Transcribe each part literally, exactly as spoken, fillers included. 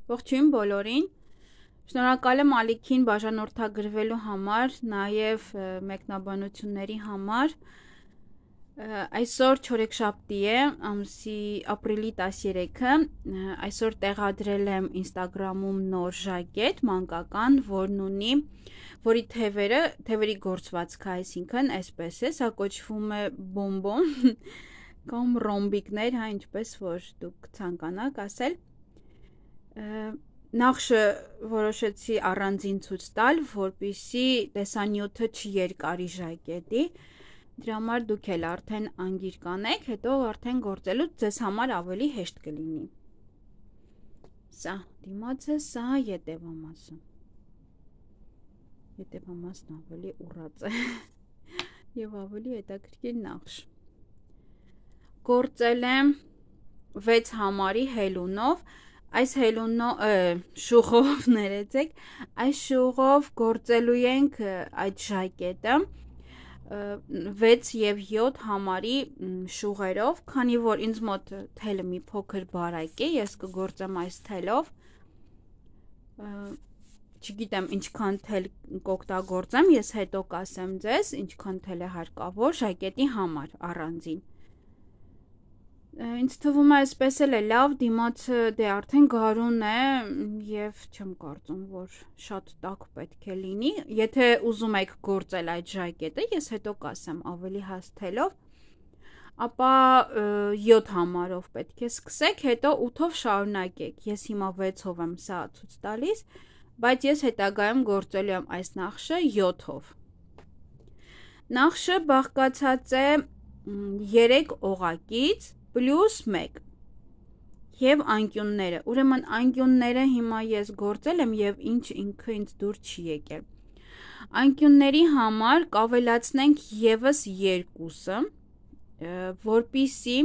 Ողջույն բոլորին, շնորհակալ եմ Ալիքին բաժանորդագրվելու համար, նաև մեկնաբանությունների համար, այսօր չորեքշաբթի է, ամսի ապրիլի տասներեքը, այսօր տեղադրել եմ ինստագրամում նոր ժակետ, մանկական, որն ունի, որի թևերը, թևերի գործվածքը, այսինքն, այսպես է, սա կոչվում է բոմբոն, կամ ռոմբիկներ, հա, ինչպես որ դուք ցանկանաք ասել, Նախշը որոշեցի առանձին ցույց տալ, որպեսզի տեսանյութը չերկարի ժակետի, դրա համար դուք էլ արդեն անգիր կանեք, հետո արդեն գործելուց ձեզ համար ավելի հեշտ կլինի։ Սա դիմացը, սա ետևամասը։ Ետևամասն ավելի ուռած է եւ ավելի հետաքրքիր նախշ։ Գործել եմ վեց համարի հելունով, այս հելունո շուղով ներեցեք, այս շուղով գործելու ենք այդ ժակետը վեց եւ յոթ համարի շուղերով, քանի որ ինձ մոտ թելը մի փոքր բարակ է, ես կգործեմ այս թելով, չգիտեմ ինչքան թել կօգտագործեմ, ես հետո կասեմ ձեզ, ինչքան թել է հարկավոր ժակետի համար առանձին։ Ինձ թվում է այսպես էլ է լավ, դիմացը դե արդեն գարուն է եւ չեմ կարծում, որ շատ տաք պետք է լինի, եթե ուզում եք գործել այդ ժակետը, ես հետո կասեմ ավելի հասթելով, ապա յոթ համարով պետք է սկսեք, հետո ութով շարունակեք, ես հիմա վեցով եմ սա ցույց տալիս, բայց ես հետագայում գործելու եմ այս նախշը յոթով։ Նախշը բաղկացած է երեք օղակից պլյուս մեկ և անկյունները, ուրեմն անկյունները հիմա ես գործել եմ և ինչ ինքը ինձ դուր չի եկել։ Անկյունների համար կավելացնենք ևս երկուսը, որպիսի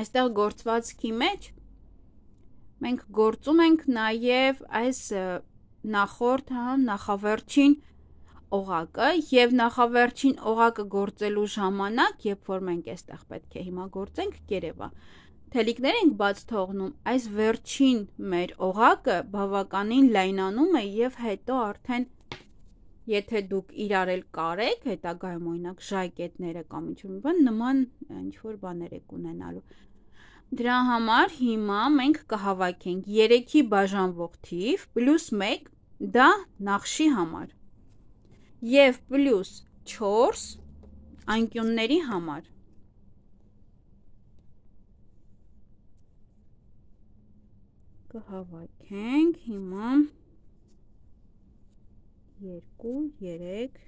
այստեղ գործվածքի մեջ մենք գործում ենք նաև այս նախորդ, նախավերջին օղակը եւ նախավերջին օղակը գործելու ժամանակ, երբ որ մենք այստեղ պետք է հիմա գործենք, կերևա, թելիկներ ենք բաց թողնում, այս վերջին մեր օղակը բավականին լայնանում է եւ հետո արդեն եթե դուք իրար էլ կարեք, հետագայում օրինակ ժակետները կամ ինչ-որ բան նման ինչ-որ բաներ եք ունենալու։ Դրա համար հիմա մենք կհավաքենք երեքի բաժանվող թիվ պլյուս մեկ, դա նախշի համար, և պլյուս չորս անկյունների համար։ Կհավաքենք հիմա երկու, երեք,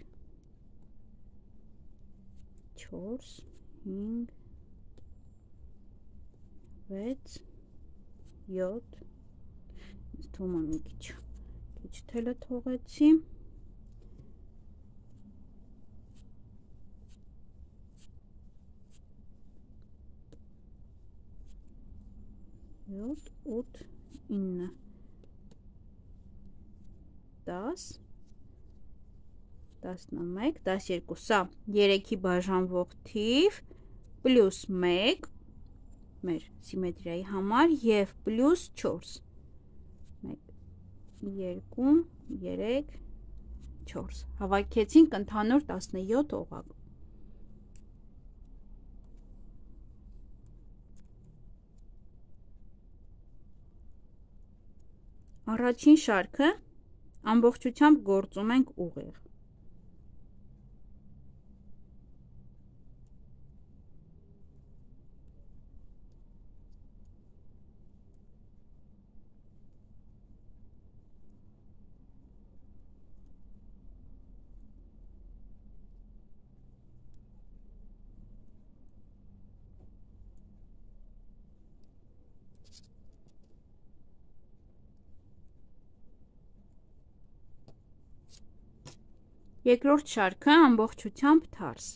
չորս, հինգ, վեց, յոթ, ինձ թվում է մի քիչ, քիչ թելը թողեցի, յոթ, ութ, ինը, դաս, տասնմեկ, տասներկու, սա երեքի բաժանվող թիվ, պլյուս մեկ, մեր սիմետրիայի համար և պլյուս չորս, մեկ, երկու, երեք, չորս, հավաքեցինք ընդհանուր տասնյոթ օղակ։ Առաջին շարքը ամբողջությամբ գործում ենք ուղիղ։ Երկրորդ շարքը ամբողջությամբ թարս։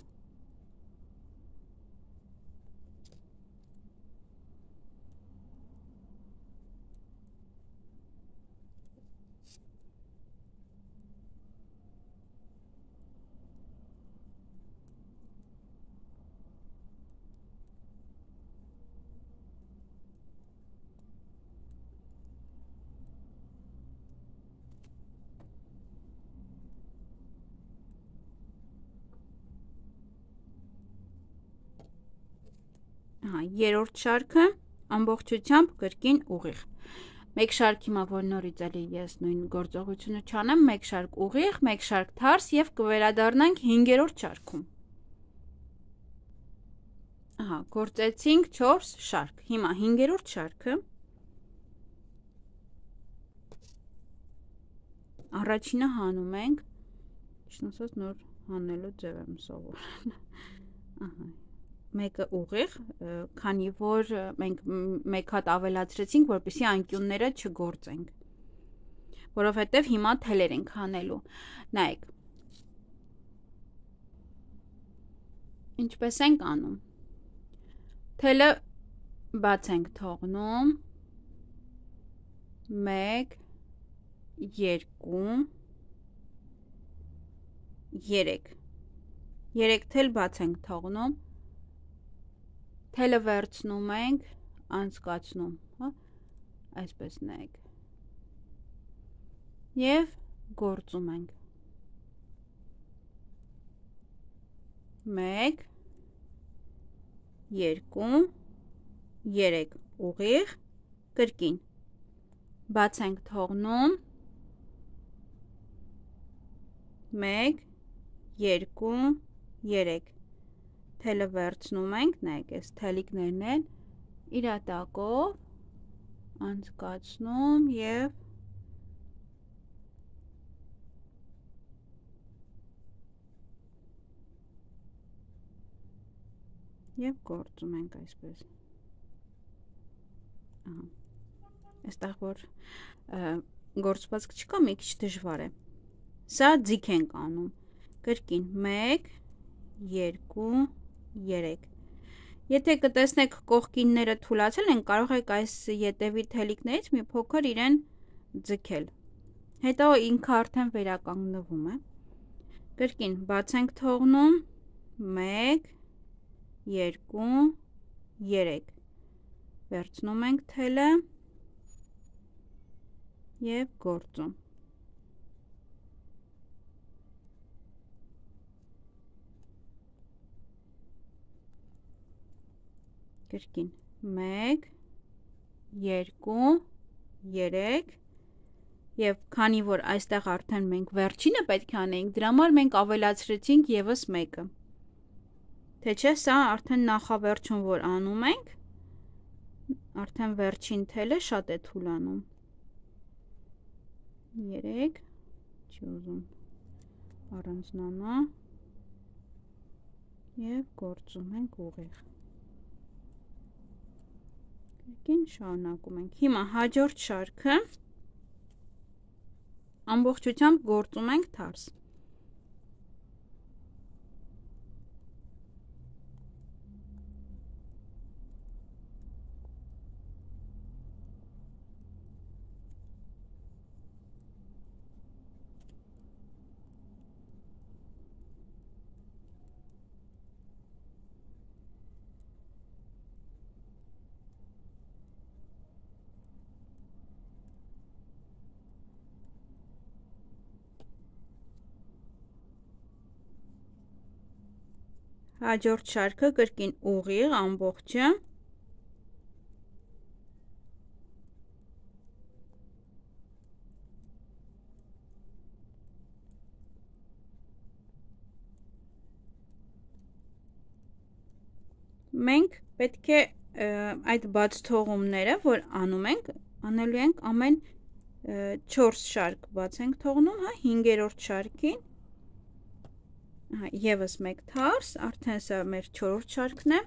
Հա, երրորդ շարքը ամբողջությամբ կրկին ուղիղ։ Մեկ շարք հիմա որ նորից էլի ես նույն գործողությունը չանեմ, մեկ շարք ուղիղ, մեկ շարք թարս եւ կվերադառնանք հինգերորդ շարքում։ Ահա, գործեցինք չորս շարք։ Հիմա հինգերորդ շարքը առաջինը հանում ենք, ճիշտ ասած նոր հանելու ձև եմ սովորել։ Ահա, մեկը ուղիղ, քանի որ մենք մեկ հատ ավելացրեցինք, որպեսզի անկյունները չգործենք, որովհետև հիմա թելեր ենք հանելու։ Նայեք, ինչպես ենք անում։ Թելը բաց ենք թողնում, մեկ, երկու, երեք, երեք թել բաց ենք թողնում, թելը վերցնում ենք, անցկացնում, հա, այսպես նայեք, և գործում ենք, մեկ, երկու, երեք, ուղիղ, կրկին, բաց ենք թողնում, մեկ, երկու, երեք, թելը վերցնում ենք, նայեք, այս թելիկներն են իրատակով անցկացնում և և գործում ենք այսպես։ Այստեղ որ գործվածք չկա, մի քիչ դժվար է։ Սա ձիգ ենք անում, կրկին, մեկ, երկու, երեք։ Եթե կտեսնեք կողքինները թուլացել են, կարող եք այս ետևի թելիկներից մի փոքր իրեն ձգել։ Հետո ինքը արդեն վերականգնվում է։ Կրկին, բաց ենք թողնում, մեկ, երկու, երեք, վերցնում ենք թելը և գործում։ Կրկին, մեկ, երկու, երեք, և քանի որ այստեղ արդեն մենք վերջինը պետք է անեինք, դրա համար մենք ավելացրեցինք ևս մեկը։ Թե չէ, սա արդեն նախավերջում որ անում ենք, արդեն վերջին թելը շատ է թուլանում։ Երեք, չի ուզում առանձնանա և գործում ենք ուղիղ։ Կրկին շարունակում ենք։ Հիմա հաջորդ շարքը ամբողջությամբ գործում ենք թարս։ Հաջորդ շարքը կրկին ուղիղ ամբողջը։ Մենք պետք է այդ բաց թողումները, որ անում ենք, անելու ենք ամեն չորս շարք բաց ենք թողնում, հա, հինգերորդ շարքին, ևս մեկ թարս, արդեն սա մեր չորրորդ շարքն է։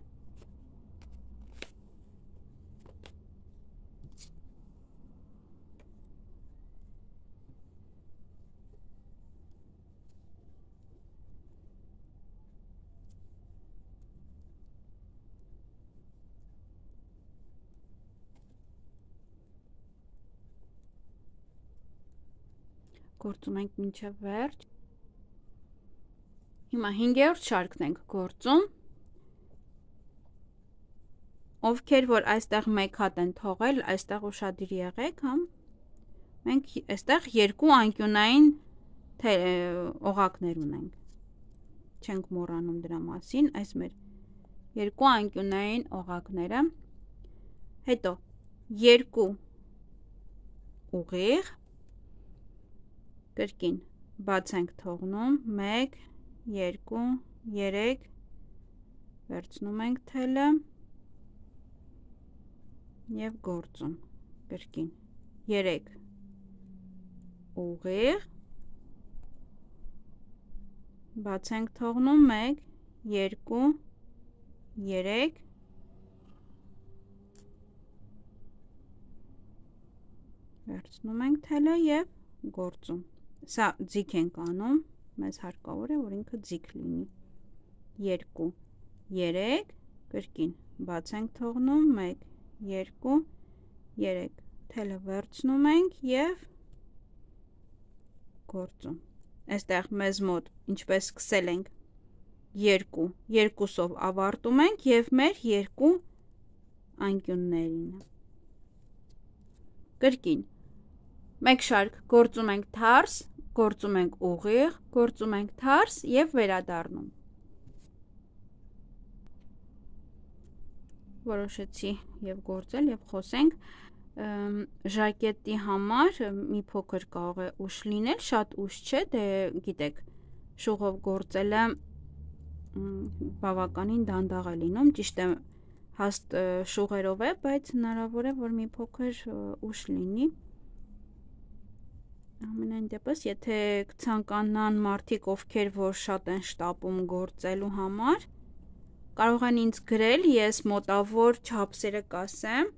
Գործում ենք մինչև վերջ։ Հիմա հինգերորդ շարքն ենք գործում, ովքեր որ այստեղ մեկ հատ են թողել, այստեղ ուշադիր եղեք, հա, մենք այստեղ երկու անկյունային օղակներ ունենք, չենք մոռանում դրա մասին, այս մեր երկու անկյունային օղակները, հետո երկու ուղիղ, կրկին բաց ենք թողնում, մեկ, երկու, երեք, վերցնում ենք թելը և գործում, կրկին, երեք ուղիղ, բաց ենք թողնում, մեկ, երկու, երեք, վերցնում ենք թելը և գործում, սա ձիգ ենք անում, մեզ հարկավոր է, որ ինքը ձիգ լինի, երկու, երեք, կրկին, բաց ենք թողնում, մեկ, երկու, երեք, թելը վերցնում ենք և գործում, այստեղ մեզ մոտ ինչպես սկսել ենք երկու, երկուսով ավարտում ենք և մեր երկու անկյուններին, կրկին, մեկ շարք գործում ենք թարս, գործում ենք ուղիղ, գործում ենք թարս և վերադառնում, որոշեցի և գործել և խոսենք, ժակետի համար մի փոքր կարող է ուշ լինել, շատ ուշ չէ, դե գիտեք, շուղով գործելը բավականին դանդաղ է լինում, ճիշտ է հաստ շուղերով է, բայց հնարավոր է, որ մի փոքր ուշ լինի, ամենայն դեպս, եթե ցանկանան մարդիկ, ովքեր որ շատ են շտապում գործելու համար, կարող են ինձ գրել, ես մոտավոր չափսերը կասեմ,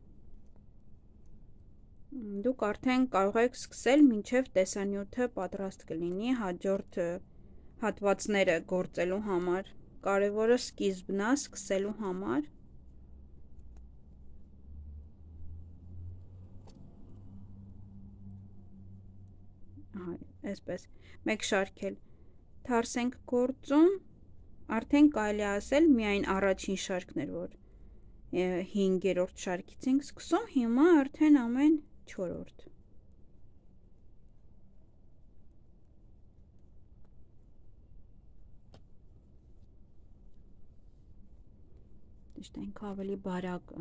դուք արդեն կարող եք սկսել մինչև տեսանյութը պատրաստ կլինի հաջորդ հատվածները գործելու համար, կարևորը սկիզբն է սկսելու համար, այսպես, մեկ շարք էլ թարս ենք գործում, արդեն կարելի է ասել միայն առաջին շարքն էր, որ հինգերորդ շարքից ենք սկսում, հիմա արդեն ամեն չորրորդ, Ճիշտ ավելի բարակ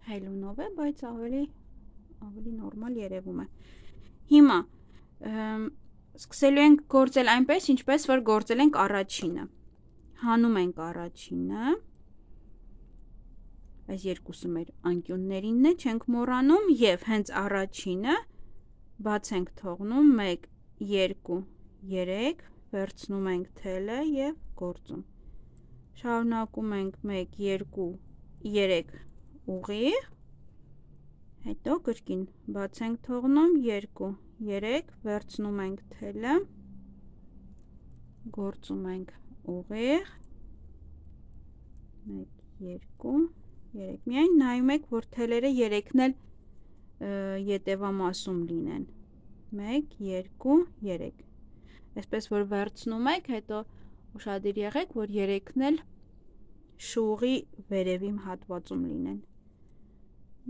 հելունով է, բայց ավելի ավելի նորմալ երևում է, հիմա սկսելու ենք գործել այնպես, ինչպես որ գործել ենք առաջինը, հանում ենք առաջինը, այս երկուսը մեր անկյուններինն է, չենք մոռանում և հենց առաջինը բաց ենք թողնում, մեկ, երկու, երեք, վերցնում ենք թելը և գործում, շարունակում ենք մեկ, երկու, երեք ուղիղ, հետո կրկին բաց ենք թողնում, երկու, երեք, վերցնում ենք թելը, գործում ենք ուղիղ, մեկ, երկու, երեք, միայն նայում եք, որ թելերը երեքն էլ ետևամասում լինեն, մեկ, երկու, երեք, այսպես որ վերցնում եք, հետո ուշադիր եղեք, որ երեքն էլ շուղի վերևի հատվածում լինեն,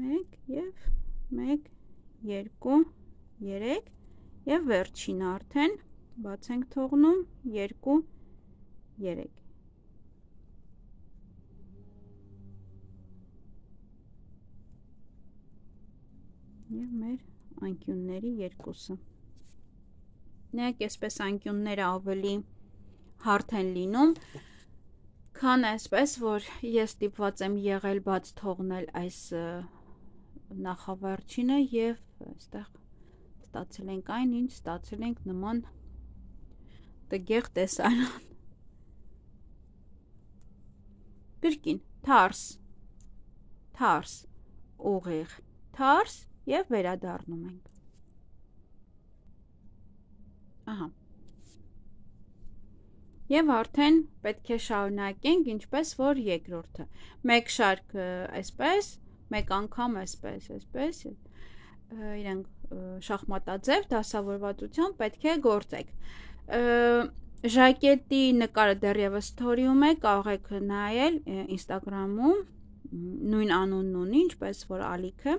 մեկ և մեկ, երկու, երեք և վերջինը արդեն բաց ենք թողնում, երկու, երեք, և մեր անկյունների երկուսը, նայեք այսպես անկյունները ավելի հարթ են լինում, քան այսպես, որ ես ստիպված եմ եղել բաց թողնել այս նախավերջինը և այստեղ ստացել ենք այն, ինչ ստացել ենք նման տգեղ տեսարան, կրկին, թարս, թարս, ուղիղ, թարս և վերադառնում ենք, ահա, և արդեն պետք է շարունակենք, ինչպես որ երկրորդը, մեկ շարք այսպես, մեկ անգամ այսպես, այսպես, իրենք շախմատաձև դասավորվածությամբ պետք է գործեք, ժակետի նկարը դեռևս սթորիում է, կարող եք նայել ինստագրամում, նույն անունն ունի, ինչպես որ ալիքը,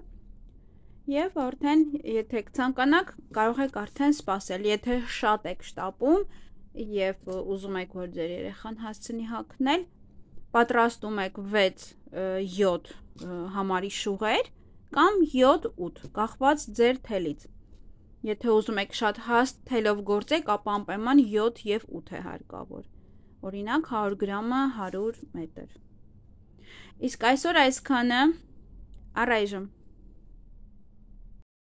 և արդեն, եթե ցանկանաք, կարող եք արդեն սպասել, եթե շատ եք շտապում, և ուզում եք, որ ձեր երեխան հասցնի հագնել, պատրաստում եք վեց յոթ համարի շուղեր կամ յոթ ութ, կախված ձեր թելից։ Եթե ուզում եք շատ հաստ թելով գործեք, ապա անպայման յոթ և ութ է հարկավոր։ Օրինակ հարյուր գրամը հարյուր մետր։ Իսկ այսօր այսքանը, առայժմ։